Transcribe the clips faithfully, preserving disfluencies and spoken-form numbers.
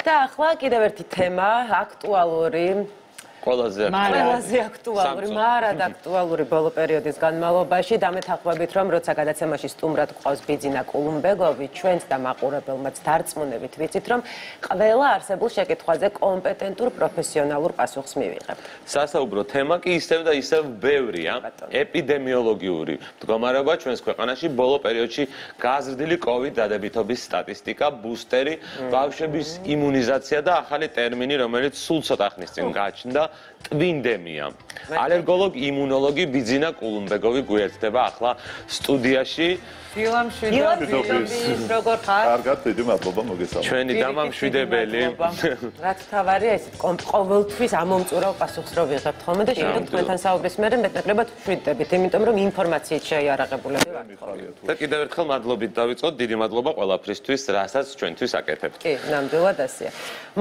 და ახლა კიდევ ერთი თემა, აქტუალური ყველაზე ყველაზე აქტუალური, მარად აქტუალური ბოლო პერიოდის განმავლობაში დამეთანხმებით, რომ როცა გადაცემაში სტუმრად გვყავს ბიძინა კულუმბეგოვი, ჩვენც და მაყურებელმაც დარწმუნებით ვიცით, რომ ყველა არსებულ შეკითხვაზე კომპეტენტურ პროფესიონალურ პასუხს მივიღებთ. სასაუბრო თემა კი ისევ და ისევ ბევრია, ეპიდემიოლოგიური მდგომარეობა ჩვენს ქვეყანაში ბოლო პერიოდში გაზრდილი კოვიდ დადებითობის სტატისტიკა, ბუსტერი, ბავშვების იმუნიზაცია და ახალი ტერმინი, რომელიც სულ ცოტა ხნის წინ გაჩნდა ტვინდემია. ალერგოლოგ იმუნოლოგი ბიძინა კულუმბეგოვი გვერდება ახლა სტუდიაში. ილამშვიდობის როგორ ხარ? კარგად, დიდი მადლობა მოგესალმებით. ჩვენი დამამშვიდებელი. რაც თავარია ეს ყოველთვის ამომწურავ პასუხს რო ვიღებთ ხოლმე და შეიძლება თქვენთან საუბრის მერე მეტნაკლებად ვშვიდდებით, იმიტომ რომ ინფორმაციით შეიარაღებულები ვართ. და კიდევ ერთხელ მადლობით დავიწყოთ, დიდი მადლობა ყველაფრისთვის, რასაც ჩვენთვის აკეთებთ. კი, ნამდვილად ასეა.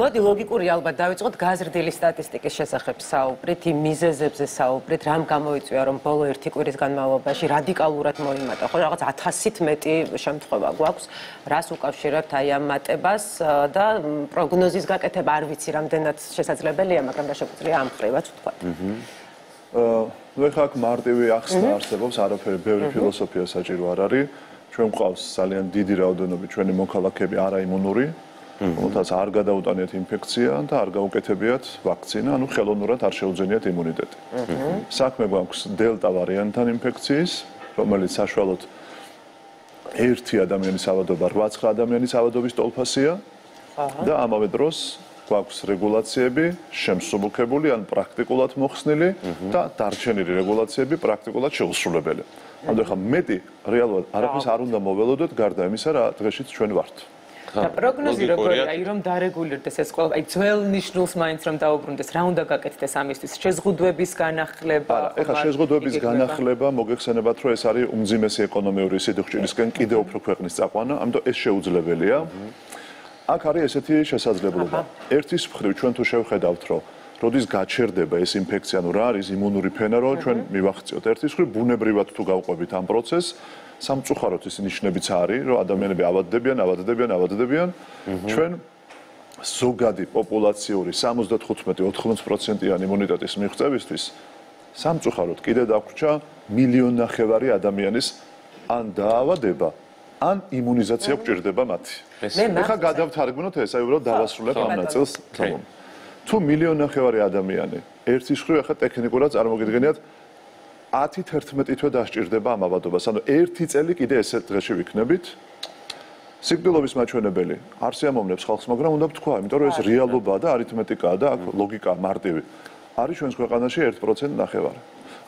მოდი ლოგიკური ალბათ დავიწყოთ გაზრდილი სტატისტიკის შესახებ საუბრით, იმ მიზეზებზე საუბრით, რამ გამოიწვია რომ ბოლო ერთი კვირის განმავლობაში რადიკალურად მოიმატა, ხო რაღაც ათასით მეტი შემთხვევა გვაქვს, რას უკავშირებთ აი ამ მატებას და პროგნოზის გაკეთება არ ვიცი რამდენად შესაძლებელია, მაგრამ რა შეგვიძლია ამ ხრივაც ვთქვათ. აა, ნუ ეხლა აქ მარტივი ახსნა არსებობს, არაფერი ბევრი ფილოსოფია საჭირო არ არის. ჩვენ გვყავს ძალიან დიდი რაოდენობით ჩვენი მოქალაქეები არაიმუნური, რომელთაც არ გადაუტანიათ ინფექცია და არ გაუკეთებიათ ვაქცინა, ანუ ხელოვნურად არ შეუძენიათ იმუნიტეტი. საქმე გვაქვს დელტა ვარიანტთან ინფექციის, რომელიც საშუალოდ ერთი ადამიანის ავადობა რვა-ცხრა ადამიანის ავადობის ტოლფასია და ამავე დროს გვაქვს რეგულაციები შემსუბუქებული ან პრაქტიკულად მოხსნილი და დარჩენილი რეგულაციები პრაქტიკულად შეუსრულებელი. ანუ ეხლა მეტი რეალურად არაფერს არ უნდა მოველოდოთ გარდა იმისა, რა დღეშიც ჩვენ ვართ. და პროგნოზი როგორია, აი რომ დარეგულირდეს ეს ყველა, აი ძველ ნიშნულს მაინც რომ დაუბრუნდეს, რა უნდა გაკეთდეს ამისთვის? შეზღუდვების განახლება? ეხლა შეზღუდვების განახლება მოგეხსენებათ, რომ ეს არის უმძიმესი ეკონომიური სიდუხჭირისკენ კიდევ უფრო ქვეყნის წაყვანა, ამიტომ ეს შეუძლებელია. აქ არის ესეთი შესაძლებლობა. ერთის მხრივ ჩვენ თუ შევხედავთ, რომ როდის გაჩერდება ეს ინფექცია, ანუ რა არის იმუნური ფენა, რომ ჩვენ მივახციოთ. ერთის მხრივ ბუნებრივად თუ გავყვებით ამ პროცესს, სამწუხაროდ ის ნიშნებიც არის, რომ ადამიანები ავადდებიან, ავადდებიან, ავადდებიან. ჩვენ ზოგადი პოპულაციური სამოცდათხუთმეტი ოთხმოცდაოთხ პროცენტიანი იმუნიტეტის მიღწევისთვის სამწუხაროდ კიდე დაგვრჩა მილიონ ნახევარი ადამიანის ან დაავადება, ან იმუნიზაცია გვჭირდება მათი. ეხლა გადავთარგმნოთ ეს, აი უბრალოდ დავასრულებ ამ ნაწილს. თუ მილიონ ნახევარი ადამიანი ერთის მხრივ ეხლა ტექნიკურად წარმოგიდგენიათ ათი თერთმეტი თვე დასჭირდება ამ ავადობას. ანუ ერთი წელი კიდე ესეთ დღეში ვიქნებით. სიკვდილობის მაჩვენებელი არ შეამოვნებს ხალხს, მაგრამ უნდა ვთქვა, იმიტომ რომ ეს რეალობაა და არითმეტიკაა და აქ ლოგიკა მარტივი. არის ჩვენს ქვეყანაში ერთ პროცენტი ნახევარი.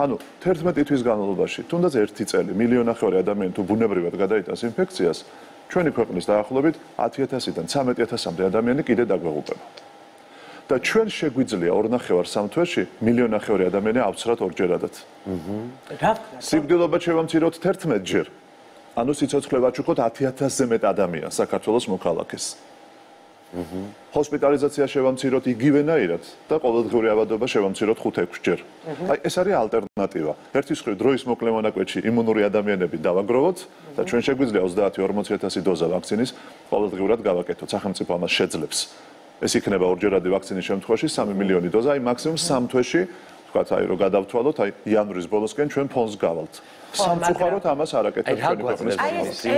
ანუ თერთმეტი თვის განმავლობაში, თუნდაც ერთი წელი, მილიონ ნახევარი ადამიანი თუ ბუნებრივად გადაიტანს ინფექციას, ჩვენი ქვეყნის დაახლოებით ათი ათასიდან ცამეტი ათასამდე ადამიანი კიდე დაგვეღუპება. და ჩვენ შეგვიძლია ორ ნახევარ სამ თვეში მილიონ ნახევარი ადამიანი ავცრათ ორჯერადად. სიკვდილობა შევამციროთ თერთმეტ ჯერ. ანუ სიცოცხლე ვაჩუქოთ ათი ათასზე მეტ ადამიანს საქართველოს მოქალაქეს. ჰოსპიტალიზაცია შევამციროთ იგივენაირად და ყოველდღიური ავადობა შევამციროთ ხუთ ექვს ჯერ. აი ეს არის ალტერნატივა. ერთის მხრივ დროის მოკლე მონაკვეთში იმუნური ადამიანები დავაგროვოთ და ჩვენ შეგვიძლია ოცდაათი ორმოცი ათასი დოზა ვაქცინის ყოველდღიურად გავაკეთოთ. სახელმწიფო ამას შეძლებს. ეს იქნება ორჯერადი ვაქცინის შემთხვევაში სამი მილიონი დოზა, აი მაქსიმუმ სამ თვეში, თქვათ, აი რომ გადავთვალოთ, აი იანვრის ბოლოსკენ ჩვენ ფონს გავალთ. სამწუხაროდ ამას არ აკეთებს ჩვენი ქვეყნის პროგნოზი.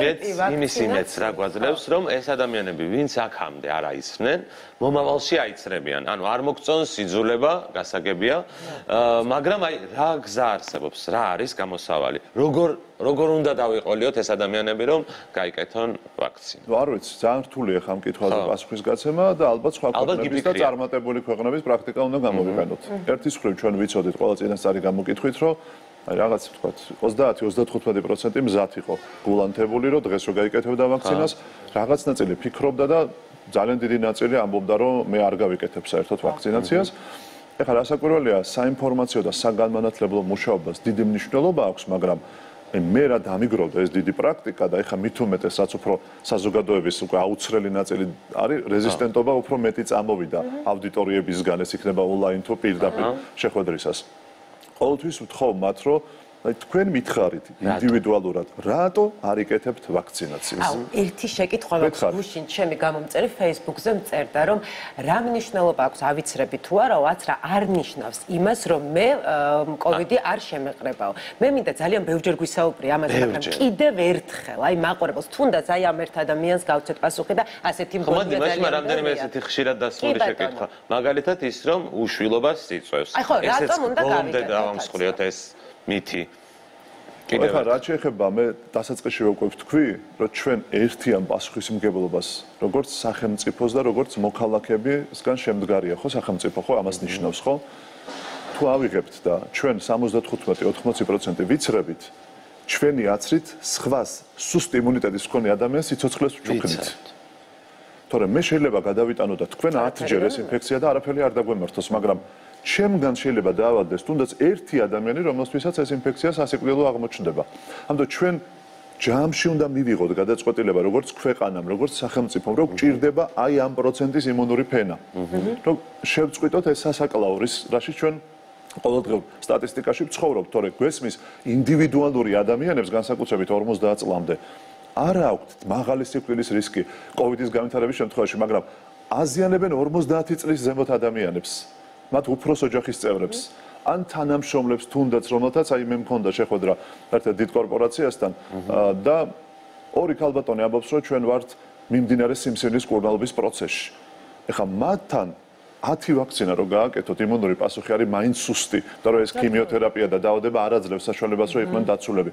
იმის იმედს რა გვაძლევს, რომ ეს ადამიანები, ვინც აქამდე არ აიცრნენ, მომავალში აიცრებიან. ანუ არ მოგწონს იძულება, გასაგებია, მაგრამ აი რა გზა არსებობს, რა არის გამოსავალი? როგორ როგორ უნდა დავიყოლიოთ ეს ადამიანები, რომ გაიკეთონ ვაქცინა? ნუ არ ვიცი, ძალიან რთულია ხა ამ კითხვაზე პასუხის გაცემა და ალბათ სხვა ქვეყნების და წარმატებული ქვეყნების პრაქტიკა უნდა გამოვიყენოთ. ერთის მხრივ ჩვენ ვიცოდით ყველა წინასწარი გამოკითხვით, რომ აი რაღაც ვთქვათ, ოცდაათი ოცდათხუთმეტი პროცენტი მზად იყო გულანთებული, რომ დღეს რო გაიკეთებდა ვაქცინას, რაღაც ნაწილი ფიქრობდა და ძალიან დიდი ნაწილი ამბობდა, რომ მე არ გავიკეთებ საერთოდ ვაქცინაციას. ეხლა რასაკვირველია, საინფორმაციო და საგანმანათლებლო მუშაობას დიდი მნიშვნელობა აქვს, მაგრამ მე რა დამიგროვდა ეს დიდი პრაქტიკა და ეხლა მით უმეტეს, რაც უფრო საზოგადოების უკვე აუცრელი ნაწილი არის, რეზისტენტობა უფრო მეტი წამოვიდა აუდიტორიებისგან, ეს იქნება ონლაინ თუ პირდაპირ შეხვედრისას. ყოველთვის ვთხოვ მათ, რომ აი თქვენ მითხარით ინდივიდუალურად, რატო არ იკეთებთ ვაქცინაციას? აუ, ერთი შეკითხვა მაქვს გუშინ ჩემი გამომწერი Facebook-ზე მწერდა, რომ რა მნიშვნელობა აქვს ავიცრები თუ არა, რაც რა არ ნიშნავს იმას, რომ მე კოვიდი არ შემეყრებაო. მე მინდა ძალიან ბევრჯერ გვისაუბრე ამაზე, მაგრამ კიდევ ერთხელ, აი მაყურებელს, თუნდაც აი ამ ერთ ადამიანს გავცეთ პასუხი და ასეთი მგონია ძალიან. ხომ, მაგრამ რამდენიმე ესეთი ხშირად დასმული შეკითხვა. მაგალითად ის, რომ უშვილობას იწვევს. აი ხო, რატომ უნდა გავიკეთოთ? დავამსხვრიოთ ეს მითი. კიდევ ახლა რაც შეეხება მე დასაწყისში უკვე ვთქვი, რომ ჩვენ ერთიან პასუხისმგებლობას, როგორც სახელმწიფოს და როგორც მოქალაქეებისგან შემდგარია, ხო, სახელმწიფო ხო ამას ნიშნავს, ხო? თუ ავიღებთ და ჩვენ სამოცდათხუთმეტი ოცდაოთხ პროცენტი ვიცრებით, ჩვენი აცრით სხვას სუსტ იმუნიტეტის მქონე ადამიანს სიცოცხლეს ვჩუქნით. თორემ მე შეიძლება გადავიტანო და თქვენ ათჯერ ეს ინფექცია და არაფერი არ დაგვემართოს, მაგრამ ჩემგან შეიძლება დაავადდეს თუნდაც ერთი ადამიანი, რომელთვისაც ეს ინფექცია სასიკვდილო აღმოჩნდება. ამიტომ ჩვენ ჯამში უნდა მივიღოთ გადაწყვეტილება, როგორც ქვეყანამ, როგორც სახელმწიფომ, რომ გვჭირდება აი ამ პროცენტის იმუნური ფენა. რომ შევწყვიტოთ ეს სასაკლაო, რაშიც ჩვენ ყოველდღიურ სტატისტიკაში ვცხოვრობთ, თორე გვესმის ინდივიდუალური ადამიანებს განსაკუთრებით ორმოცდაათ წლამდე არ აქვთ მაღალი სიკვდილის რისკი კოვიდის განვითარების შემთხვევაში, მაგრამ აზიანებენ ორმოცდაათი წლის ზემოთ ადამიანებს. მათ უფროს ოჯახის წევრებს ან თანამშრომლებს თუნდაც რომელთაც აი მე მქონდა შეხვედრა ერთ დიდ კორპორაციასთან და ორი ქალბატონი ამბობს რომ ჩვენ ვართ მიმდინარე სიმსივნის კურნალობის პროცესში. ეხლა მათთან ათი ვაქცინა რო გააკეთოთ იმუნური პასუხი არის მაინც სუსტი და რომ ეს ქიმიოთერაპია და დაავადება არ აძლევს საშუალებას რომ იყვნენ დაცულები.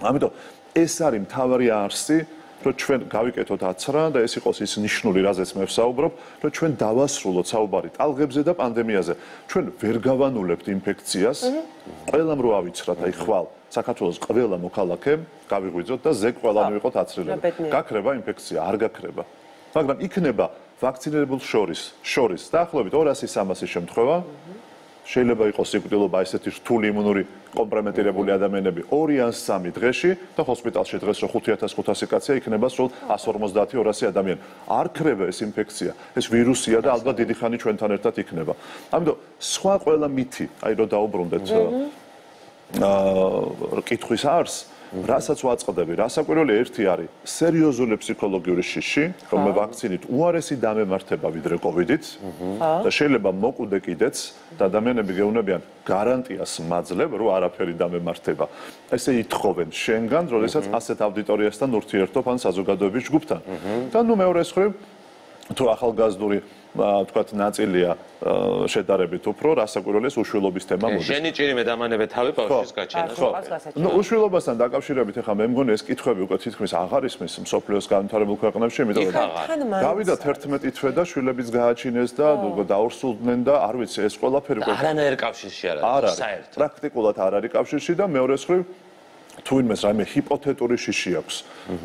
ამიტომ ეს არის მთავარი არსი რომ ჩვენ გავიკეთოთ აცრა და ეს იყოს ის ნიშნული, რაზეც მე ვსაუბრობ, რომ ჩვენ დავასრულოთ საუბარი ტალღებზე და პანდემიაზე. ჩვენ ვერ გავანულებთ ინფექციას, ყველამ რო ავიცრათ, აი ხვალ, საქართველოს ყველა მოქალაქემ გავიღვიძოთ და ზეგ ყველამ ვიყოთ აცრილები. გაქრება ინფექცია, არ გაქრება. მაგრამ იქნება ვაქცინირებულ შორის, შორის დაახლოებით ორასი სამასი შემთხვევა. შეიძლება იყოს სიკვდილობა ესეთი რთული იმუნური კომპრომეტირებული ადამიანები ორი ან სამი დღეში და ჰოსპიტალში დღეს რო ხუთი ათას ხუთასი კაცია იქნება სულ εκατს ორმოცდაათი ორასი ადამიანი. არ ქრება ეს ინფექცია, ეს ვირუსია და ალბათ დიდი ხანი ჩვენთან ერთად იქნება. ამიტომ სხვა ყველა მითი, აი რო დაუბრუნდეთ აა კითხვის არს, რასაც ვაწყდები, რასაკვირველი ერთი არის სერიოზული ფსიქოლოგიური შიში, რომ მე ვაქცინით უარესი დამემართება ვიდრე კოვიდით და შეიძლება მოკვდე კიდეც და ადამიანები გეუბნებიან გარანტიას მაძლევ, რომ არაფერი დამემართება. ესე ითხოვენ შენგან, როდესაც ასეთ აუდიტორიასთან ურთიერთობ ან საზოგადოების ჯგუფთან. და ნუ მეორე მხრივ თუ ახალგაზრდული თქვათ ნაწილია შედარებით უფრო რასაკვირველია უშვილობის თემა მოდის. შენი ჭირი მე დამანებე თავი ბავშვის გაჩენა. ხო. ნუ უშვილობასთან დაკავშირებით ახლა მე მგონი ეს კითხვები უკვე თითქმის აღარ ისმის მსოფლიოს განვითარებულ ქვეყნებში, იმიტომ რომ გავიდათ ერთმეტი თვე და შვილების გააჩინეს და დაურსულდნენ და არ ვიცი ეს ყველაფერი უკვე არანაირ კავშირში არ არის საერთოდ. პრაქტიკულად არ არის კავშირში და მეორე მხრივ თუ იმეს რაიმე ჰიპოთეტური შიში აქვს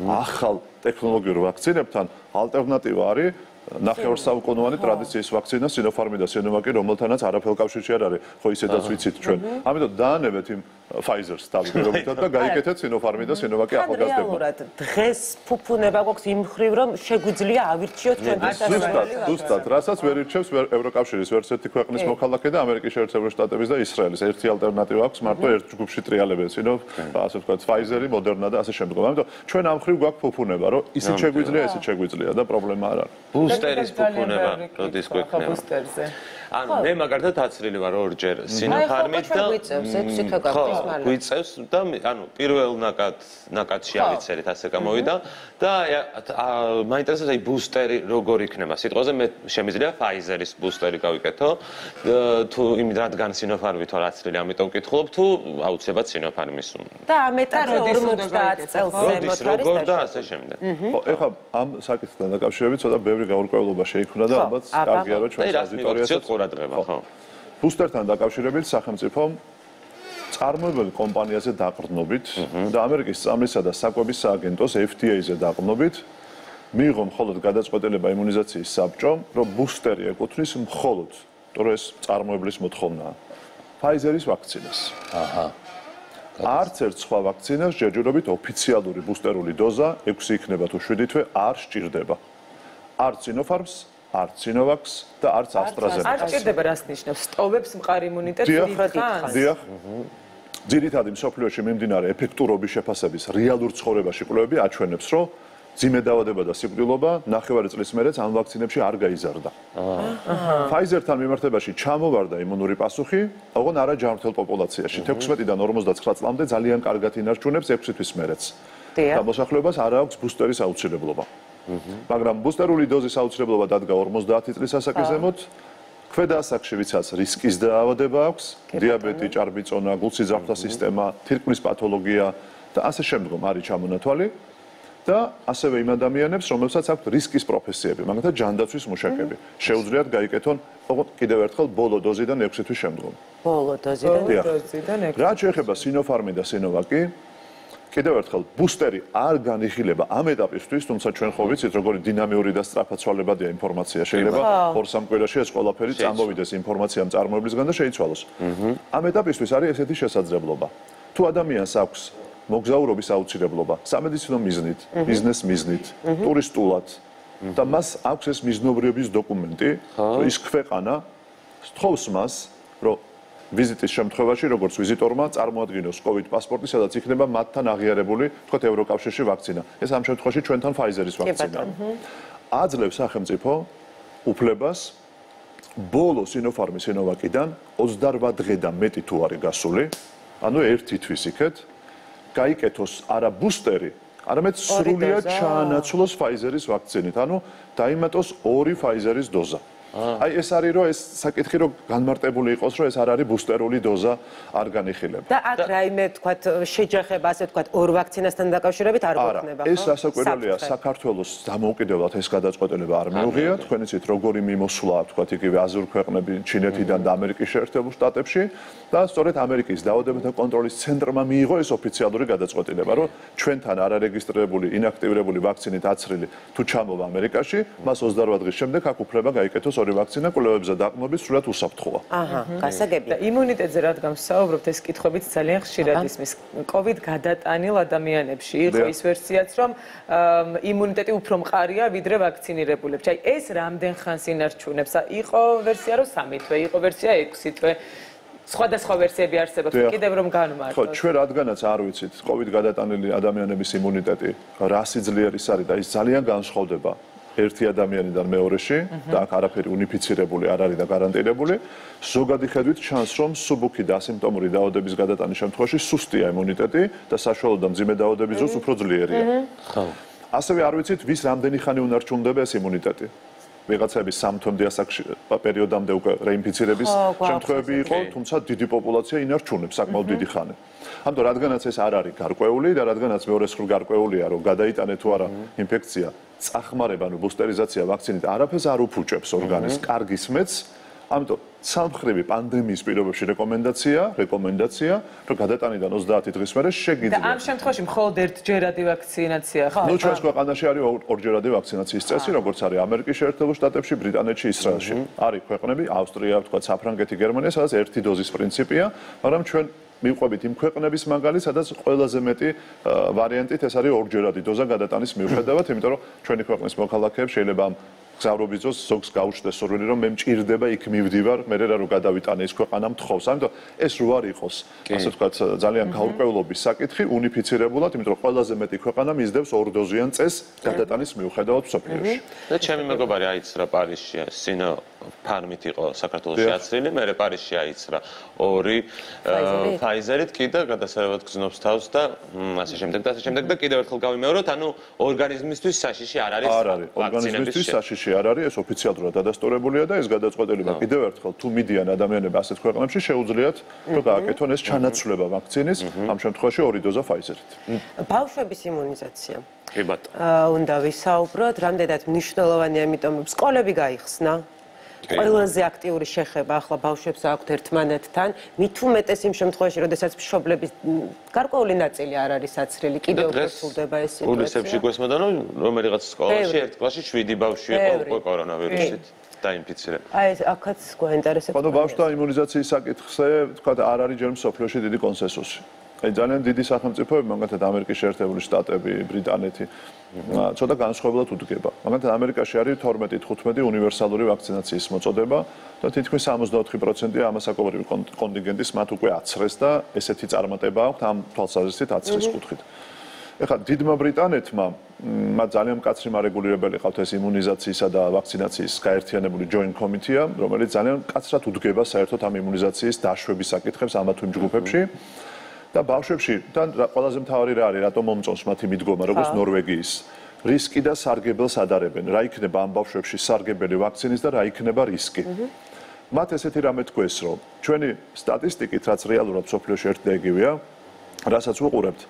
ახალ ტექნოლოგიურ ვაქცინებთან ალტერნატივა არის ნახევარსაუკუნოვანი ტრადიციის ვაქცინა სინოფარმი და სინოვაკი, რომელთანაც არაფერ კავშირში არ არის, ხო ისედაც ვიცით ჩვენ. ამიტომ დაანებეთ იმ Pfizer-ს თავისუფლად და გაიკეთეთ სინოფარმი და სინოვაკი ახალგაზრდებმა. რეალურად დღეს ფუფუნება გვაქვს იმ მხრივ, რომ შეგვიძლია ავირჩიოთ ჩვენ ზუსტად, ზუსტად, რასაც ვერ ირჩევს ევროკავშირის ვერც ერთი ქვეყნის მოქალაქე და ამერიკის შეერთებული შტატების და ისრაელის. ერთი ალტერნატივა აქვს, მარტო ერთ ჯგუფში ტრიალებენ სინო, ასე ვთქვათ, Pfizer-ი, Moderna და ასე შემდგომ. ამიტომ ჩვენ ამ მხრივ გვაქვს ფუფუნება, რომ ისიც შეგვიძლია, ესეც შეგვიძლია და პრობლემა არ არის. ბუსტერის ფუფუნება როდის გვექნება? ბუსტერზე. ანუ მე მაგალითად აცრილი ვარ ორჯერ სინოფარმით და გვიწევს და ანუ პირველ ნაკად ნაკადში ავიცერით ასე გამოვიდა და მაინტერესებს აი ბუსტერი როგორ იქნება. სიტყვაზე მე შემიძლია Pfizer-ის ბუსტერი გავიკეთო თუ იმ რადგან სინოფარმი თორ აცრილი, ამიტომ ვკითხულობ თუ აუცილებლად სინოფარმის უნდა. და ამეტად ორმოცდაათ წელს ზემოთ არის როგორ და ასე შემდეგ. ხო, ეხლა ამ საკითხთან დაკავშირებით ცოტა ბევრი გაურკვევლობა შეიქმნა და ალბათ კარგია რომ ჩვენს აუდიტორიასაც ყურადღება, ხო. ბუსტერთან დაკავშირებით სახელმწიფომ წარმოებელი კომპანიაზე დაყრდნობით და ამერიკის წამლისა და საკვების სააგენტოს F D A-ზე დაყრდნობით მიიღო მხოლოდ გადაწყვეტილება იმუნიზაციის საბჭომ, რომ ბუსტერი ეკუთვნის მხოლოდ, თორე ეს წარმოებლის მოთხოვნაა, Pfizer-ის ვაქცინას. აჰა. არც ერთ სხვა ვაქცინას ჯერჯერობით ოფიციალური ბუსტერული დოზა ექვსი იქნება თუ შვიდი თვე არ სჭირდება. არც Sinopharm-ს, არც Sinovac-ს და არც AstraZeneca-ს. არ სჭირდება რას ნიშნავს? სტოვებს მყარ იმუნიტეტს დიდხანს? დიახ. ძირითადი მსოფლიოში მიმდინარე ეფექტურობის შეფასების რეალურ ცხოვრებაში კვლევები აჩვენებს, რომ ძიმე დაავადება და სიკვდილობა ნახევარი წლის მერეც ამ ვაქცინებში არ გაიზარდა. Pfizer-თან მიმართებაში ჩამოვარდა იმუნური პასუხი, ოღონ არა ჯანმრთელ პოპულაციაში. თექვსმეტიდან ორმოცდაცხრა წლამდე ძალიან კარგად ინარჩუნებს ექვსი თვის მერეც. და მოსახლეობას არ აქვს ბუსტერის აუცილებლობა. მაგრამ ბუსტერული დოზის აუცილებლობა დადგა ორმოცდაათი წლის ასაკის ზემოთ. ქვედა ასაკში ვისაც რისკის დაავადება აქვს, დიაბეტი, ჭარბიწონა, გულსიძახთა სისტემა, თირკმლის პათოლოგია და ასე შემდგომ არის ჩამონათვალი. და ასევე იმ ადამიანებს, რომელსაც აქვთ რისკის პროფესიები, მაგალითად ჯანდაცვის მუშაკები, შეუძლიათ გაიკეთონ კიდევ ერთხელ ბოლო დოზიდან ექვსი თვის შემდგომ. ბოლო დოზიდან დოზიდან ექვსი. რაც შეეხება Sinopharm და Sinovac-ი, კიდევ ერთხელ ბუსტერი არ განიხილება ამ ეტაპისთვის, თუმცა ჩვენ ხო ვიცით, როგორი დინამიური და სწრაფად ცვალებადია ინფორმაცია. შეიძლება ორ-სამ კვირაში ეს ყველაფერი წამოვიდეს ინფორმაცია მწარმოებლისგან და შეიცვალოს. ამ ეტაპისთვის არის ესეთი შესაძლებლობა. თუ ადამიანს აქვს მოგზაურობის აუცილებლობა, სამედიცინო მიზნით, ბიზნეს მიზნით, ტურისტულად და მას აქვს ეს მიზნობრიობის დოკუმენტი, ის ქვეყანა სთხოვს მას, რომ ვიზიტის შემთხვევაში, როგორც ვიზიტორმა, წარმოადგინოს COVID პასპორტი, სადაც იქნება მათთან აღიარებული, თქვათ, ევროკავშირში ვაქცინა. ეს ამ შემთხვევაში ჩვენთან Pfizer-ის ვაქცინა. აძლევს სახელმწიფო უფლებას ბოლო Sinopharm Sinovac-დან ოცდარვა დღე და მეტი თუ არის გასული, ანუ ერთი თვის იქეთ გაიკეთოს არა ბუსტერი, არამედ სრულიად ჩაანაცვლოს Pfizer-ის ვაქცინით, ანუ დაიმატოს ორი Pfizer-ის დოზა. აი ეს არის რომ ეს საკითხი რომ განმარტებული იყოს რომ ეს არ არის ბუსტერული დოზა არ განიხილება. და აქ რაიმე თქვათ შეჯახება ასე თქვათ ორ ვაქცინასთან დაკავშირებით არ გვექნება ხო? ეს სასაკვირველია საქართველოს დამოუკიდებლად ეს გადაწყვეტილება არ მიუღია. თქვენ იცით როგორი მიმოსვლა თქვათ იგივე აზიურ ქვეყნები, ჩინეთიდან და ამერიკის შეერთებულ შტატებში და სწორედ ამერიკის დაავადებათა კონტროლის ცენტრმა მიიღო ეს ოფიციალური გადაწყვეტილება, რომ ჩვენთან არარეგისტრირებული, ინაქტიურებული ვაქცინით აცრილი თუ ჩამოვა ამერიკაში, მას ოცდარვა დღის შემდეგ აქ უფლება გაიკეთოს ორი ვაქცინა კვლევებზე დაყნობის სრულად უსაფრთხოა. აჰა, გასაგებია. და იმუნიტეტზე რადგან ვსაუბრობთ, ეს კითხვებიც ძალიან ხშირად ისმის. COVID გადატანილ ადამიანებში იყო ის ვერსიაც, რომ იმუნიტეტი უფრო მყარია ვიდრე ვაქცინირებულებში. აი ეს რამდენ ხანს ინარჩუნებს? იყო ვერსია, რომ სამი თვე, იყო ვერსია ექვსი თვე. სხვადასხვა ვერსიები არსებობს, კიდევ რომ განმარტოთ. ხო, ჩვენ რადგანაც არ ვიცით, COVID გადატანილი ადამიანების იმუნიტეტი რა სიძლიერის არის და ის ძალიან განსხვავდება ერთი ადამიანიდან მეორეში და აქ არაფერი უნიფიცირებული არ არის და გარანტირებული. ზოგადი ხედვით ჩანს, რომ სუბუქი და ასიმპტომური დაავადების გადატანის შემთხვევაში სუსტია იმუნიტეტი და საშუალო და მძიმე დაავადების დროს უფრო ძლიერია. ხო. ასევე არ ვიცით, ვის რამდენი ხანი უნარჩუნდება ეს იმუნიტეტი. ვიღაცების სამ თვემდე ასაკში პერიოდამდე უკვე რეინფიცირების შემთხვევები იყო, თუმცა დიდი პოპულაცია ინარჩუნებს საკმაოდ დიდი ხანი. ამიტომ რადგანაც ეს არ არის გარკვეული და რადგანაც მეორე სრულ გარკვეულია, რომ გადაიტანე თუ არა ინფექცია, წახმარება, ანუ ბუსტერიზაცია ვაქცინით არაფერს არ უფუჭებს ორგანიზმს, კარგი სმეც. ამიტომ სამხრივი პანდემიის პირობებში რეკომენდაცია, რეკომენდაცია, რომ გადატანიდან ოცდაათი დღის მერე შეგიძლიათ. და ამ შემთხვევაში მხოლოდ ერთჯერადი ვაქცინაცია ხო? ნუ ჩვენს ქვეყანაში არის ორჯერადი ვაქცინაციის წესი, როგორც არის ამერიკის შეერთებულ შტატებში, ბრიტანეთში, ისრაელში. არის ქვეყნები, ავსტრია, თქვა, საფრანგეთი, გერმანია, სადაც ერთი დოზის პრინციპია, მაგრამ ჩვენ მივყვებით იმ ქვეყნების მაგალითს, სადაც ყველაზე მეტი ვარიანტით ეს არის ორჯერადი დოზა გადატანის მიუხედავად, იმიტომ რომ ჩვენი ქვეყნის მოქალაქეებს შეიძლება ამ გზავრობის დროს ზოგს გაუჩნდეს სურვილი, რომ მე მჭირდება იქ მივდივარ, მე რა რომ გადავიტანე ის ქვეყანა მთხოვს. ამიტომ ეს რო არ იყოს, ასე ვთქვათ, ძალიან გაურკვევლობის საკითხი, უნიფიცირებულად, იმიტომ რომ ყველაზე მეტი ქვეყანა მისდევს ორდოზიან წესს გადატანის მიუხედავად მსოფლიოში. და ჩემი მეგობარი აიცრა პარიზში, Sinopharm-ით იყო საქართველოში აცრილი, მერე პარიზში აიცრა ორი Pfizer-ით კი და გადასარევად გზნობს თავს და ასე შემდეგ და ასე შემდეგ და კიდევ ერთხელ გავიმეოროთ, ანუ ორგანიზმისთვის საშიში არ არის. არ არის, ორგანიზმისთვის საშიში არ არის, ეს ოფიციალურად დადასტურებულია და ეს გადაწყვეტილება კიდევ ერთხელ თუ მიდიან ადამიანები ასეთ ქვეყნებში შეუძლიათ რომ გააკეთონ ეს ჩანაცვლება ვაქცინის, ამ შემთხვევაში ორი დოზა Pfizer-ით. ბავშვების იმუნიზაცია. კი ბატონო. უნდა ვისაუბროთ, რამდენად მნიშვნელოვანია, იმიტომ რომ სკოლები გაიხსნა. ყველაზე აქტიური შეხება ახლა ბავშვებს აქვთ ერთმანეთთან, მით უმეტეს იმ შემთხვევაში, როდესაც მშობლების გარკვეული ნაწილი არ არის აცრილი, კიდევ უფრო სრულდება ეს სიტუაცია. უნისებში გვესმოდა, რომ რომელიღაც სკოლაში ერთ კლასში შვიდი ბავშვი იყო უკვე კორონავირუსით დაინფიცირებული. აი ეს აქაც გვაინტერესებს. ხო, ბავშვთა იმუნიზაციის საკითხზე, თქვა, არ არის ჯერ მსოფლიოში დიდი კონსენსუსი. აი ძალიან დიდი სახელმწიფოები, მაგალითად ამერიკის შეერთებული შტატები, ბრიტანეთი, ცოტა განსხვავებულად უდგება. მაგალითად ამერიკაში არის თორმეტი თხუთმეტი უნივერსალური ვაქცინაციის მოწოდება და თითქმის სამოცდაოთხი პროცენტი ამასაკობრივი კონტინგენტის მათ უკვე აცრეს და ესეთი წარმატება აქვს ამ თვალსაზრისით აცრის კუთხით. ეხლა დიდმა ბრიტანეთმა მათ ძალიან მკაცრი მარეგულირებელი ყავთ ეს იმუნიზაციისა და ვაქცინაციის გაერთიანებული joint committee, რომელიც ძალიან მკაცრად უდგება საერთოდ ამ იმუნიზაციის დაშვების საკითხებს ამა თუ იმ ჯგუფებში. და ბავშვებში და ყველაზე მთავარი რა არის, რატომ მომწონს მათი მიდგომა, როგორც ნორვეგიის რისკი და სარგებელს ადარებენ. რა იქნება ამ ბავშვებში სარგებელი ვაქცინის და რა იქნება რისკი. მათ ესეთი რამე თქვეს, რომ ჩვენი სტატისტიკით, რაც რეალურად სოფლიოში ერთ და იგივეა, რასაც ვუყურებთ,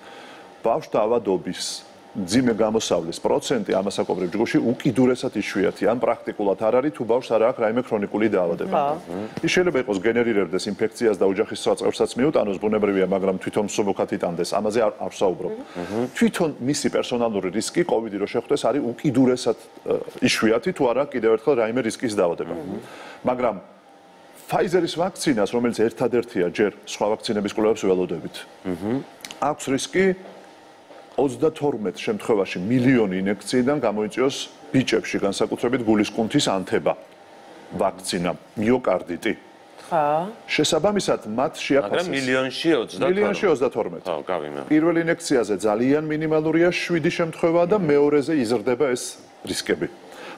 ბავშვთა ავადობის ძიმე გამოსავლის პროცენტი ამასაკობრივ ჯგუფში უკიდურესად იშვიათია. ან პრაქტიკულად არ არის თუ ბავშვს არ აქვს რაიმე ქრონიკული დაავადება. ის შეიძლება იყოს გენერირებდეს ინფექციას და ოჯახის წავწერსაც მიუტანოს, ბუნებრივია, მაგრამ თვითონ მსუბუქად იტანდეს. ამაზე არ არ ვსაუბრობ. თვითონ მისი პერსონალური რისკი კოვიდი რო შეხვდეს არის უკიდურესად იშვიათი თუ არა კიდევ ერთხელ რაიმე რისკის დაავადება. მაგრამ Pfizer-ის ვაქცინას, რომელიც ერთადერთია ჯერ სხვა ვაქცინების კვლევებს ველოდებით. აქვს რისკი ოცდათორმეტ შემთხვევაში მილიონი ინექციიდან გამოიწვიოს ბიჭებში, განსაკუთრებით გულისკუნთის ანთება ვაქცინა, მიოკარდიტი. ხა. შესაბამისად, მათ შეაფასეს. მაგრამ მილიონში ოცდათორმეტ. მილიონში ოცდათორმეტ. ხო, გავიმეორე. პირველ ინექციაზე ძალიან მინიმალურია შვიდი შემთხვევა და მეორეზე იზრდება ეს რისკები.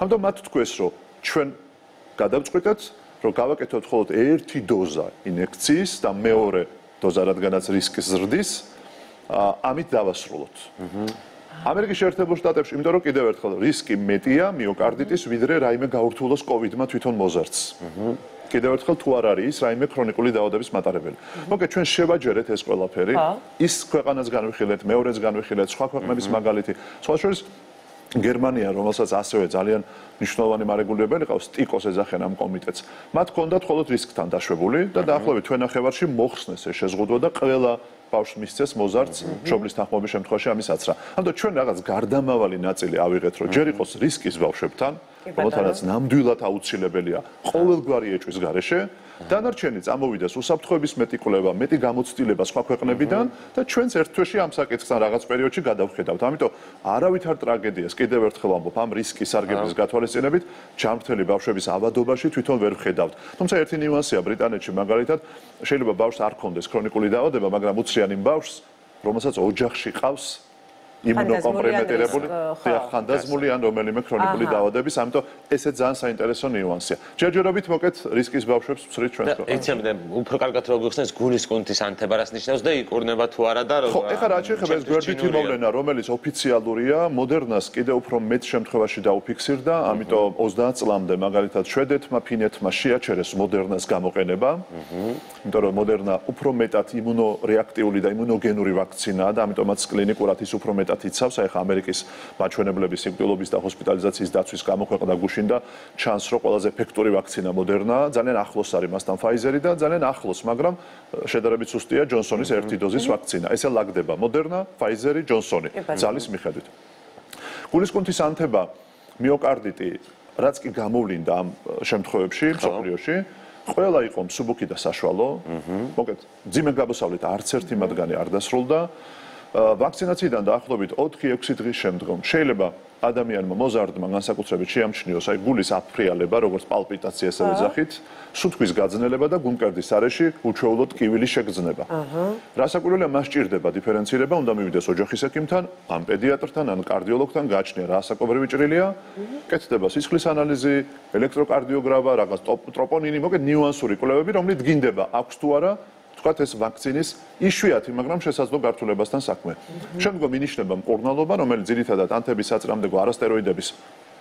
ამიტომ მათ თქვეს, რომ ჩვენ გადავწყვიტეთ, რომ გავაკეთოთ მხოლოდ ერთი დოზა ინექციის და მეორე დოზა, რადგანაც რისკი ზრდის, ამით დავასრულოთ. ამერიკის შეერთებულ შტატებში, იმიტომ რომ კიდევ ერთხელ რისკი მეტია მიოკარდიტის, ვიდრე რაიმე გაურთულოს კოვიდმა თვითონ მოზარდს. კიდევ ერთხელ თუ არ არის ის რაიმე ქრონიკული დაავადების მატარებელი. მოკეთ ჩვენ შევაჯერეთ ეს ყველაფერი, ის ქვეყანას განვიხილეთ, მეორეც განვიხილეთ, სხვა ქვეყნების მაგალითი. სხვა შორის გერმანია, რომელსაც ასევე ძალიან მნიშვნელოვანი მარეგულირებელი ყავს, ტიკოს ეძახენ ამ კომიტეტს. მათ ჰქონდათ მხოლოდ რისკთან დაშვებული და დაახლოებით თვენახევარში მოხსნეს ეს შეზღუდვა და ყველა ბავშვს მისცეს მოზარდს მშობლის თანხმობის შემთხვევაში ამის აცრა. ამიტომ ჩვენ რაღაც გარდამავალი ნაწილი ავიღეთ, რომ ჯერ იყოს რისკის ბავშვებთან, რომელთანაც ნამდვილად აუცილებელია ყოველგვარი ეჭვის გარეშე, დანარჩენი წამოვიდეს უსაფრთხოების მეტი კვლევა, მეტი გამოცდილება სხვა ქვეყნებიდან და ჩვენც ერთ თვეში ამ საკითხთან რაღაც პერიოდში გადავხედავთ. ამიტომ არავითარ ტრაგედიას კიდევ ერთხელ ვამბობ, ამ რისკის სარგებლის გათვალისწინებით ჯანმრთელი ბავშვების ავადობაში თვითონ ვერ ვხედავთ. თუმცა ერთი ნიუანსია ბრიტანეთში მაგალითად, შეიძლება ბავშვს არ ქონდეს ქრონიკული დაავადება, მაგრამ უცრიან იმ ბავშვს, რომელსაც ოჯახში ყავს იმუნოკომპრომეტირებული ხანდაზმული ან რომელიმე ქრონიკული დაავადების, ამიტომ ესე ძალიან საინტერესო ნიუანსია. ჯერჯერობით მოკეთ რისკის ბავშვებს ვცრით ჩვენს ქვეყანაში. იცი, უფრო კარგად რო გიხსნეს გულისკუნთის ანთება რას ნიშნავს და იკურნება თუ არა და ხო, ეხლა რაც შეეხება ეს გვერდითი მოვლენა, რომელიც ოფიციალურია, მოდერნას კიდევ უფრო მეტ შემთხვევაში დაუფიქსირდა, ამიტომ ოცდაათ წლამდე მაგალითად შვედეთმა, ფინეთმა შეაჩერეს მოდერნას გამოყენება, იმიტომ რომ მოდერნა უფრო მეტად იმუნორეაქტიული და იმუნოგენური ვაქცინაა და ამიტომაც კლინიკურად ის უფრო მეტად იცავს, აი ხა ამერიკის მაჩვენებლების სიკვდილობის და ჰოსპიტალიზაციის დაცვის გამოქვეყნდა გუშინ და ჩანს, რომ ყველაზე ეფექტური ვაქცინა მოდერნაა, ძალიან ახლოს არის მასთან Pfizer-ი და ძალიან ახლოს, მაგრამ შედარებით სუსტია ჯონსონის ერთი დოზის ვაქცინა. ესე ლაგდება მოდერნა, Pfizer-ი, ჯონსონი ძალის მიხედვით. გულისკუნთის ანთება, მიოკარდიტი, რაც კი გამოვლინდა ამ შემთხვევებში, მსოფლიოში, ყველა იყო მსუბუქი და საშუალო. მოკეთ, ძიმე გამოსავლით არც ერთი მათგანი არ დასრულდა. ვაქცინაციიდან დაახლოებით ოთხი ექვსი დღის შემდგომ შეიძლება ადამიანმა მოზარდმა განსაკუთრებით შეამჩნიოს აი გულის აფრიალება, როგორც პალპიტაცია ესე ვეძახით, სუნთქვის გაძნელება და გულმკერდის არეში უჩვეულოდ ტკივილის შეგრძნება. რასაკვირველია, მას სჭირდება დიფერენცირება, უნდა მივიდეს ოჯახის ექიმთან, ან პედიატრთან, ან კარდიოლოგთან, გააჩნია რა საკობრივი ჭრილია, კეთდება სისხლის ანალიზი, ელექტროკარდიოგრაფია, რაღაც ტროპონინი, მოკეთ ნიუანსური კვლევები, რომლით გინდება აქვს თუ არა თქვათ ეს ვაქცინის იშვიათი, მაგრამ შესაძლო გართულებასთან საქმე. შემდგომ ინიშნება მკურნალობა, რომელიც ძირითადად ანთების საწრამდეგო არასტეროიდების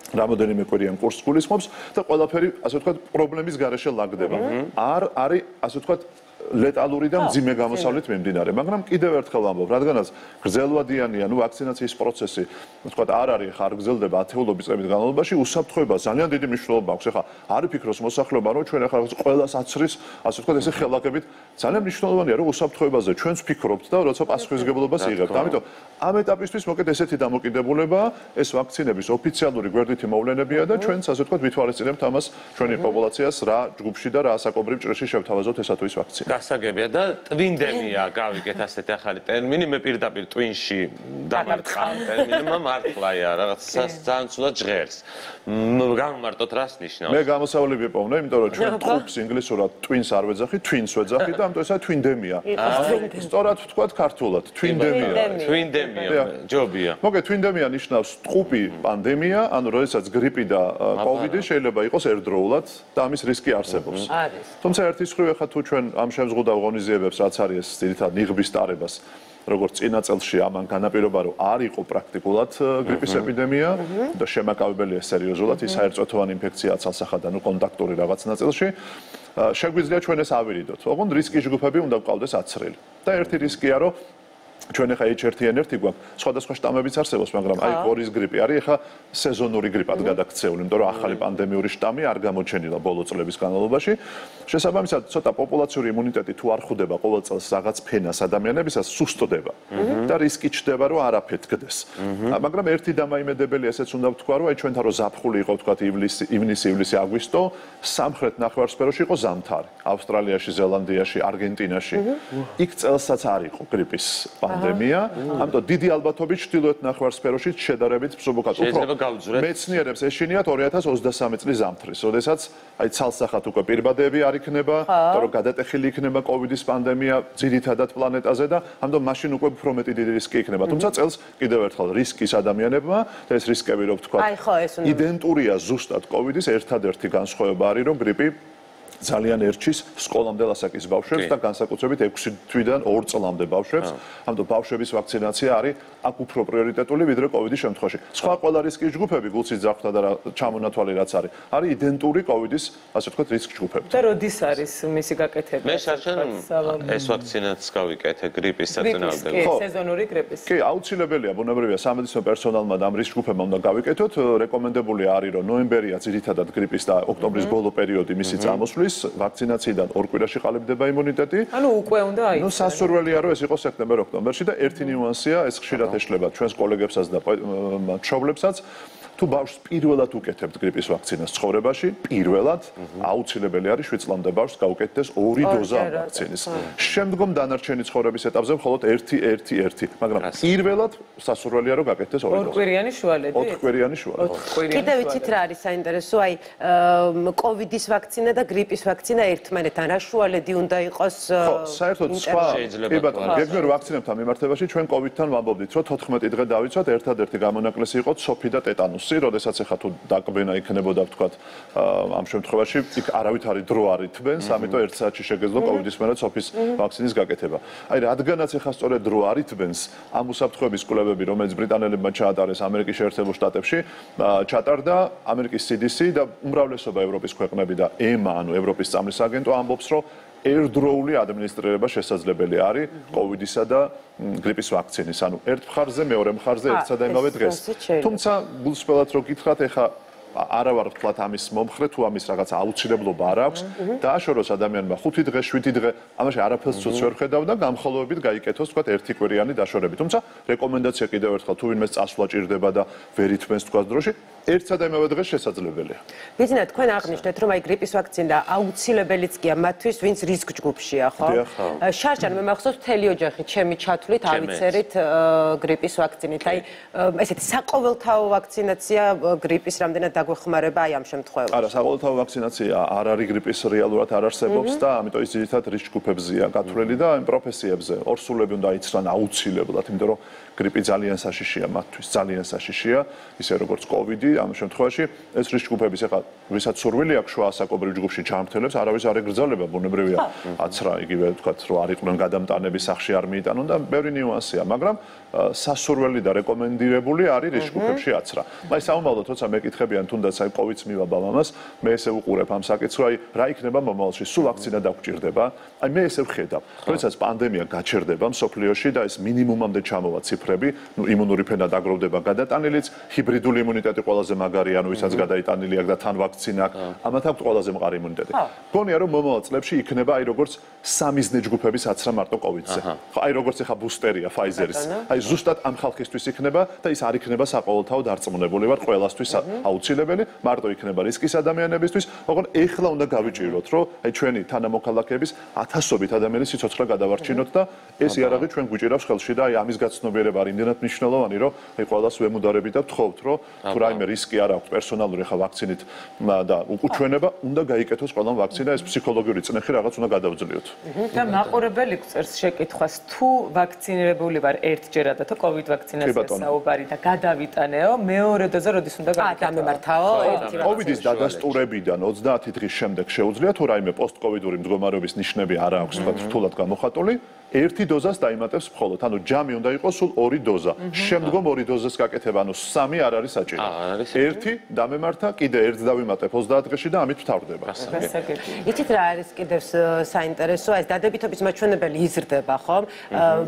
რამოდენიმე კვირიან კურსს გულისხმობს და ყველაფერი, ასე ვთქვათ, პრობლემის გარეშე ლაგდება. არ არის, ასე ვთქვათ, ლეტალური და მძიმე გამოსავლით მიმდინარე, მაგრამ კიდევ ერთხელ ვამბობ, რადგანაც გრძელვადიანი, ანუ ვაქცინაციის პროცესი, ვთქვათ, არ არის ხარ გრძელდება ათეულობის წლების განმავლობაში, უსაფრთხოება ძალიან დიდი მნიშვნელობა აქვს. ეხლა არ ვფიქროს მოსახლეობა, რომ ჩვენ ახლა ყველას აცრის, ასე ვთქვათ, ესე ხელაკებით, ძალიან მნიშვნელოვანია, რომ უსაფრთხოებაზე ჩვენც ვფიქრობთ და როცა პასუხისმგებლობას იღებთ. ამიტომ ამ ეტაპისთვის მოკეთ ესეთი დამოკიდებულება, ეს ვაქცინების ოფიციალური გვერდითი მოვლენებია და ჩვენც, ასე ვთქვათ, ვითვალისწინებთ ამას ჩვენი პოპულაციას რა ჯგუფში და რა საკობრივ ჭრილში შევთავაზოთ ესა თუ ის ვაქცინა. გასაგებია და ტვინდემია გავიგეთ ასეთი ახალი ტერმინი მე პირდაპირ ტვინში დამარცხავ ტერმინმა მართლაა რაღაც ძალიან ცუდად ჟღერს გამომარტოთ რას ნიშნავს მე გამოსავლები ვიპოვნე იმიტომ რომ ჩვენ ტყუპს ინგლისურად twins არ ვეძახი twins ვეძახი და ამიტომ ესა twindemia სწორად ვთქვათ ქართულად twindemia twindemia ჯობია მოგე twindemia ნიშნავს ტყუპი პანდემია ანუ როდესაც გრიპი და კოვიდი შეიძლება იყოს ერთდროულად და ამის რისკი არსებობს თუმცა ერთის მხრივ ახლა თუ ჩვენ ამ შემზღუდავ ღონისძიებებს რაც არის ძირითადად ნიღბის ტარებას როგორც წინა წელში ამან განაპირობა რომ არ იყო პრაქტიკულად გრიპის ეპიდემია და შემაკავებელია სერიოზულად ის საერთო ინფექცია ცალსახად ანუ კონტაქტური რაღაც ნაწილში შეგვიძლია ჩვენ ეს ავირიდოთ ოღონდ რისკის ჯგუფები უნდა გვყავდეს აცრელი და ერთი რისკია რომ ჩვენ ახლა ეიჩ ერ ენ ერთი გვაქვს სხვადასხვა შტამებიც არსებობს მაგრამ აი გორის გრიპი არის ახლა სეზონური გრიპად გადაქცეული იმიტომ რომ ახალი პანდემიური შტამი არ გამოჩენილა ბოლო წლების განმავლობაში შესაბამისად ცოტა პოპულაციური იმუნიტეტი თუ არ ხვდება ყოველ წელს რაღაც ფენას ადამიანებისას სუსტდება და რისკი ჩნდება რომ არაფეთქდეს მაგრამ ერთი დამაიმედებელი ესეც უნდა ვთქვა რომ აი ჩვენთან რომ ზაფხული იყო ვთქვათ ივლისი ივნისი ივლისი აგვისტო სამხრეთ ნახევარსფეროში იყო ზამთარი ავსტრალიაში ზელანდიაში არგენტინაში იქ წელსაც არ იყო გრიპის პანდემია, ამიტომ დიდი ალბათობით ჩრდილოეთ ნახევარსფეროში შედარებით მსუბუქად უფრო მეცნიერებს ეშინიათ ორი ათას ოცდასამი წლის ზამთრის, როდესაც აი ცალსახად უკვე პირბადეები არ იქნება, იმიტომ რომ გადატეხილი იქნება კოვიდის პანდემია ძირითადად პლანეტაზე და ამიტომ მაშინ უკვე უფრო მეტი დიდი რისკი იქნება. თუმცა წელს კიდევ ერთხელ რისკის ადამიანებმა და ეს რისკები რო ვთქვა, იდენტურია ზუსტად კოვიდის ერთადერთი განსხვავება არის რომ გრიპი ძალიან ერჩის სკოლამდე ასაკის ბავშვებს და განსაკუთრებით ექვსი თვიდან ორ წლამდე ბავშვებს. ამიტომ ბავშვების ვაქცინაცია არის აქ უფრო პრიორიტეტული ვიდრე კოვიდის შემთხვევაში. სხვა ყველა რისკის ჯგუფები, გულსის ძახვა და ჩამონათვალი რაც არის, არის იდენტური კოვიდის, ასე ვთქვათ, რისკ ჯგუფები. და როდის არის მისი გაკეთება? მე საერთოდ ეს ვაქცინაც გავიკეთე გრიპის საწინააღმდეგო. ხო, სეზონური გრიპის. კი, აუცილებელია, ბუნებრივია სამედიცინო პერსონალმა და ამ რისკ ჯგუფებმა უნდა გავიკეთოთ. რეკომენდებული არის, რომ ნოემბერია ძირითადად გრიპის და ოქტომბრის ბოლო პერიოდი მისი წამოსვლის ვაქცინაციიდან ორ კვირაში ყალიბდება იმუნიტეტი. ანუ უკვე უნდა აიწყოს. ნუ სასურველია რომ ეს იყოს სექტემბერ-ოქტომბერში და ერთი ნიუანსია, ეს ხშირად ეშლება ჩვენს კოლეგებსაც და მშობლებსაც. თუ ბავშვს პირველად უკეთებთ გრიპის ვაქცინას ცხოვრებაში, პირველად აუცილებელი არის შვიდ წლამდე ბავშვს გაუკეთდეს ორი დოზა ვაქცინის. შემდგომ დანარჩენი ცხოვრების ეტაპზე მხოლოდ ერთი ერთი ერთი, მაგრამ პირველად სასურველია რომ გაკეთდეს ორი დოზა. ორკვირიანი შუალედი? ოთხკვირიანი შუალედი. კიდევ ვიცით რა არის საინტერესო, აი კოვიდის ვაქცინა და გრიპის ვაქცინა ერთმანეთთან რა შუალედი უნდა იყოს? ხო, საერთოდ სხვა კი ბატონო, გეგმერ ვაქცინებთან მიმართებაში ჩვენ კოვიდთან ვამბობდით, რომ თოთხმეტი დღე დავიცვათ, ერთადერთი გამონაკლისი იყო ცოფი და ტეტანუსი. როდესაც ახლა თუ დაკბენა იქნებოდა ვთქვათ ამ შემთხვევაში იქ არავით არის დრო არ ითბენს, ამიტომ ერთ საათში შეგეძლო კოვიდის მერე ცოფის ვაქცინის გაკეთება. აი რადგანაც ახლა სწორედ დრო არ ითბენს, ამ უსაფრთხოების კვლევები, რომელიც ბრიტანელებმა ჩაატარეს ამერიკის შეერთებულ შტატებში, ჩატარდა ამერიკის სი დი სი და უმრავლესობა ევროპის ქვეყნები და ე-მა, ანუ ევროპის წამლის აგენტო ამბობს, რომ ერთდროული ადმინისტრირება შესაძლებელი არის კოვიდისა და გრიპის ვაქცინის. ანუ ერთ მხარზე, მეორე მხარზე ერთსა და იმავე დღეს. თუმცა გულსხმელად რო გითხრათ, ეხა არა ვარ ვთქვათ ამის მომხრე თუ ამის რაღაც აუცილებლობა არ აქვს. დააშოროს ადამიანმა ხუთი დღე, შვიდი დღე, ამაში არაფერს ცუც ვერ ხედავ და გამხოლოებით გაიკეთოს ვთქვათ ერთი კვირიანი დაშორებით. თუმცა რეკომენდაცია კიდევ ერთხელ თუ ვინმეს წასვლა ჭირდება და ვერ ითმენს ვთქვათ დროში, ერთსა და იმავე დღეს შესაძლებელია. ვიცით, თქვენ აღნიშნეთ, რომ აი გრიპის ვაქცინა აუცილებელიც გია მათთვის, ვინც რისკ ჯგუფშია, ხო? შარშან მე მახსოვს მთელი ოჯახი ჩემი ჩათვლით ავიცერით გრიპის ვაქცინით. აი ესეთი საყოველთაო ვაქცინაცია გრიპის რამდენად დაგვეხმარება აი ამ შემთხვევაში. არა, საყოველთაო ვაქცინაცია არ არის გრიპის რეალურად არ არსებობს და ამიტომ ის ძირითადად რისკ ჯგუფებზეა გათვლილი და იმ პროფესიებზე ორსულები უნდა იცრან აუცილებლად, იმიტომ რომ გრიპი ძალიან საშიშია მათთვის, ძალიან საშიშია, ისე როგორც კოვიდი, ამ შემთხვევაში ეს რისკ ჯგუფების ახლა ვისაც სურვილი აქვს შუა ასაკობრივ ჯგუფში ჩამრთელებს, არავის არ ეგრძელება, ბუნებრივია, აცრა იგივე ვთქვათ, რომ არ იყვნენ გადამტანები სახში არ მიიტანონ და ბევრი ნიუანსია, მაგრამ სასურველი და რეკომენდირებული არის რისკ ჯგუფებში აცრა. აი საომალო თორსა მეკითხებიან თუნდაც აი კოვიდს მივაბა მამას, მე ესე უყურებ ამ საკითხს, რომ აი რა იქნება მომავალში, სულ ვაქცინა დაგვჭირდება? აი მე ესე ვხედავ, როდესაც პანდემია გაჩერდება მსოფლიოში და ეს მინიმუმამდე ჩამოვა ციფრები, ნუ იმუნური ფენა დაგროვდება გადატანილიც, ჰიბრიდული იმუნიტეტი ყველაზე მაგარია, ანუ ვისაც გადაიტანილი აქვს და თან ვაქცინა აქვს, ამათ აქვს ყველაზე მყარი იმუნიტეტი. გონია რომ მომავალ წლებში იქნება აი როგორც სამიზნე ჯგუფების აცრა მარტო კოვიდზე. ხო, აი როგორც ეხა ბუსტერია ფაიზერის. აი ზუსტად ამ ხალხისთვის იქნება და ის არ იქნება საყოველთაო დარწმუნებული ვარ ყველასთვის აუცილებელი აუცილებელი, მარტო იქნება რისკის ადამიანებისთვის, ოღონ ეხლა უნდა გავიჭიროთ, რომ აი ჩვენი თანამოქალაქეების ათასობით ადამიანის სიცოცხლე გადავარჩინოთ და ეს იარაღი ჩვენ გვიჭირავს ხელში და აი ამის გაცნობიერება არის იმდენად მნიშვნელოვანი, რომ აი ყველას ვემუდარებით და ვთხოვთ, რომ თუ რაიმე რისკი არ აქვს პერსონალური ხა ვაქცინით და უკუჩვენება, უნდა გაიკეთოს ყველამ ვაქცინა, ეს ფსიქოლოგიური წნეხი რაღაც უნდა გადავძლიოთ. და მაყურებელი წერს შეკითხვას, თუ ვაქცინირებული ვარ ერთჯერად და თუ კოვიდ ვაქცინაციას საუბარი და გადავიტანეო, მეორე დოზა როდის უნდა აა გამემართაო ერთი რა. კოვიდის დადასტურებიდან ოცდაათი დღის შემდეგ შეუძლია თუ რაიმე პოსტკოვიდური მდგომარეობის ნიშნები არ აქვს, თქვა რთულად გამოხატული, ერთი დოზას დაიმატებს მხოლოდ. ანუ ჯამი უნდა იყოს სულ ორი დოზა. შემდგომ ორი დოზას გაკეთება, ანუ სამი არ არის საჭირო. ერთი დამემართა, კიდე ერთ დავიმატებ ოცდაათ დღეში და ამით ვთავრდება. იცით რა არის კიდევ საინტერესო, ეს დადებითობის მაჩვენებელი იზრდება, ხო?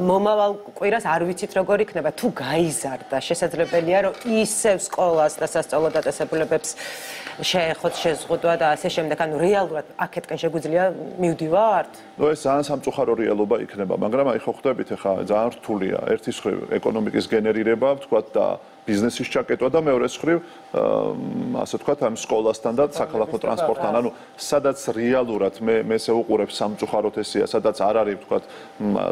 მომავალ კვირას არ ვიცით როგორ იქნება, თუ გაიზარდა, შესაძლებელია რომ ისევ სკოლას და სასწავლო დაწესებულებებს შეეხოთ შეზღუდვა და ასე შემდეგ, ანუ რეალურად აქეთკენ შეგვიძლია მივდივართ? ნუ ეს ძალიან სამწუხარო რეალობა იქნება, მაგრამ აი ხო ხვდებით ახლა ძალიან რთულია. ერთის მხრივ ეკონომიკის გენერირება, ვთქვათ და ბიზნესის ჩაკეტვა და მეორეს მხრივ ასე ვთქვათ ამ სკოლასთან და საქალაქო ტრანსპორტთან, ანუ სადაც რეალურად მე მე ესე უყურებ სამწუხაროდ ესია, სადაც არ არის ვთქვათ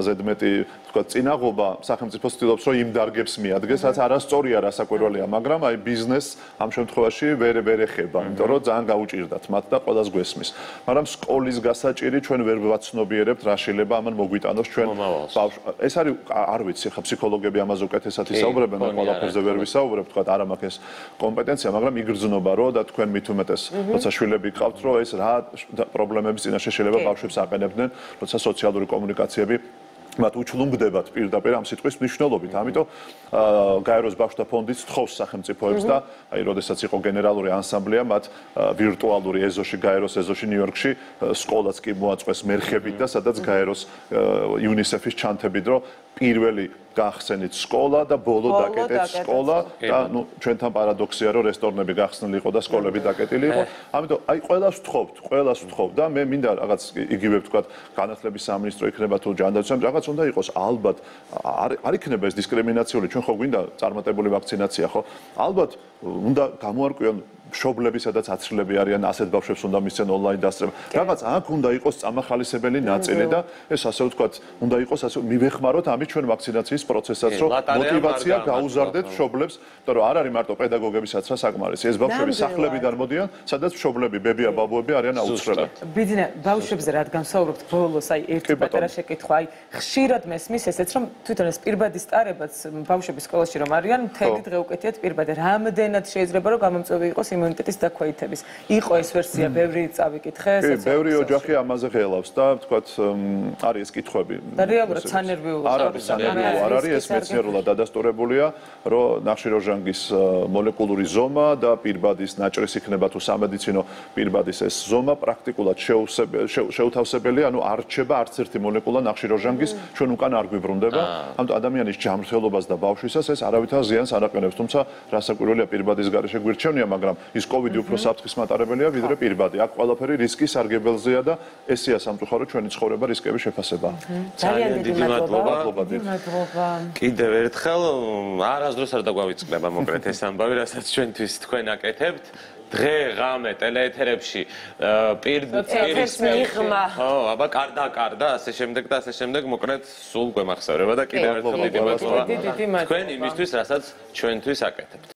ზედმეტი ვთქვათ წინაღობა, სახელმწიფო ცდილობს რომ იმ დარგებს მიადგეს, რაც არასწორია, რასაკვირველია, მაგრამ აი ბიზნესს ამ შემთხვევაში ვერ ვერ ეხება, იმიტომ რომ ძალიან გაუჭირდათ მათ და ყველას გვესმის. მაგრამ სკოლის გასაჭირი ჩვენ ვერ ვაცნობიერებთ რა შეიძლება ამან მოგვიტანოს ჩვენ ბავშვ. ეს არის არ ვიცი, ხა ფსიქოლოგები ამაზე უკეთესად ისაუბრებენ, მე ყველაფერზე ვერ ვისაუბრებ, თქვა არ მაქვს ეს კომპეტენცია, მაგრამ იგრძნობა რომ და თქვენ მით უმეტეს, როცა შვილები გყავთ, რომ ეს რა პრობლემების წინაშე შეიძლება ბავშვებს აყენებდნენ, როცა სოციალური კომუნიკაციები მათ უჩლუმდებათ პირდაპირ ამ სიტყვის მნიშვნელობით. ამიტომ გაეროს ბავშვთა ფონდიც თხოვს სახელმწიფოებს და აი როდესაც იყო გენერალური ანსამბლეა, მათ ვირტუალური ეზოში, გაეროს ეზოში ნიუ-იორკში სკოლაც კი მოაწყვეს მერხებით და სადაც გაეროს იუნისეფის ჩანთებით, რომ პირველი გახსენით სკოლა და ბოლო დაკეტეთ სკოლა და ნუ ჩვენთან პარადოქსია რომ რესტორნები გახსნილი იყო და სკოლები დაკეტილი იყო. ამიტომ აი ყველას ვთხოვთ, ყველას ვთხოვთ და მე მინდა რაღაც იგივე ვთქვათ განათლების სამინისტრო იქნება თუ ჯანდაცვა რაღაც უნდა იყოს ალბათ არ არ იქნება ეს დისკრიმინაციული, ჩვენ ხო გვინდა წარმატებული ვაქცინაცია ხო? ალბათ უნდა გამოარკვიონ მშობლები, სადაც აცრილები არიან, ასეთ ბავშვებს უნდა მისცენ ონლაინ დასწრება. რაღაც აქ უნდა იყოს წამახალისებელი ნაწილი და ეს ასე ვთქვათ, უნდა იყოს ასე მივეხმაროთ ამით ჩვენ ვაქცინაციის პროცესაც, რომ მოტივაცია გაუზარდეთ მშობლებს, იმიტომ რომ არ არის მარტო პედაგოგებისაც რა საკმარისი, ეს ბავშვები სახლებიდან მოდიან, სადაც მშობლები, ბებია, ბაბუები არიან აუცხრელი. ბიძინა, ბავშვებზე რადგან ვსაუბრობთ ბოლოს, აი ერთი პატარა შეკითხვა, აი ხშირად მესმის ესეც, რომ თვითონ ეს პირბადის ტარებაც ბავშვების სკოლაში რომ არიან, მთელი დღე უკეთიათ პირბადე. რამდენად შეიძლება რომ გამომწვევი იყოს იმუნიტეტის დაქვეითების. იყო ეს ვერსია, ბევრი წავიკითხე, სოციალურ. ბევრი ოჯახი ამაზე ღელავს და ვთქვათ, არის ეს კითხვები. და რეალურად სანერვიულო არ არის სანერვიულო, არ არის ეს მეცნიერულად დადასტურებულია, რომ ნახშირორჟანგის მოლეკულური ზომა და პირბადის նաჭრის იქნება თუ სამედიცინო პირბადის ეს ზომა პრაქტიკულად შეუთავსებელია, ანუ არ რჩება არც ერთი მოლეკულა ნახშირორჟანგის ჩვენ უკან არ გვიბრუნდება. ამიტომ ადამიანის ჯანმრთელობას და ბავშვისას ეს არავითარ ზიანს არ აყენებს, თუმცა რასაკვირველია პირბადის გარეშე გვირჩევნია, მაგრამ ის კოვიდი უფრო საფრთხის მატარებელია ვიდრე პირბადი. აქ ყველაფერი რისკის სარგებელზეა და ესეა სამწუხარო ჩვენი ცხოვრება რისკების შეფასება. ძალიან დიდი მადლობა. კიდევ ერთხელ არასდროს არ დაგვავიწყდება მოკლედ ეს ამბავი, რასაც ჩვენთვის თქვენ აკეთებთ. დღე ღამე ტელეეთერებში პირდაპირ მიღმა. ხო, აბა კარდა კარდა, ასე შემდეგ და ასე შემდეგ მოკლედ სულ გვემახსოვრება და კიდევ ერთხელ დიდი მადლობა. თქვენ იმისთვის, რასაც ჩვენთვის აკეთებთ.